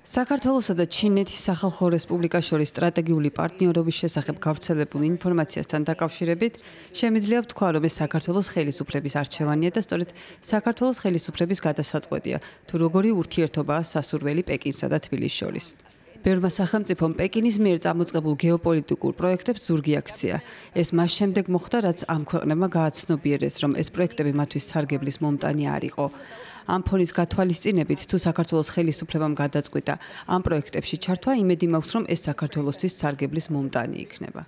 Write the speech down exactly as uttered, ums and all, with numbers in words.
საქართველოსა და ჩინეთის სახალხო რესპუბლიკას შორის სტრატეგიული პარტნიორობის შესახებ გავრცელებულ ინფორმაციასთან დაკავშირებით შემიძლია ვთქვა, რომ ეს საქართველოს ხელისუფლების არჩევანია და სწორედ საქართველოს ხელისუფლების გადასაწყვეტია, თუ როგორი ურთიერთობაა სასურველი პეკინსა და თბილისის შორის. ბევრმა სახელმწიფომ პეკინის მიერ წამოწყებულ გეოპოლიტიკურ პროექტებს ზურგი აქცია. ეს მას შემდეგ მოხდა, რაც ამ ქვეყნებმა გააცნობიერეს, რომ ეს პროექტები მათთვის სარგებლის მომტანი არ იყო. ამ ფონის გათვალისწინებით, თუ საქართველოს ხელისუფლებამ გადაწყვიტა ამ პროექტებში ჩართვა, იმედი მაქვს, რომ ეს საქართველოსთვის სარგებლის მომტანი იქნება.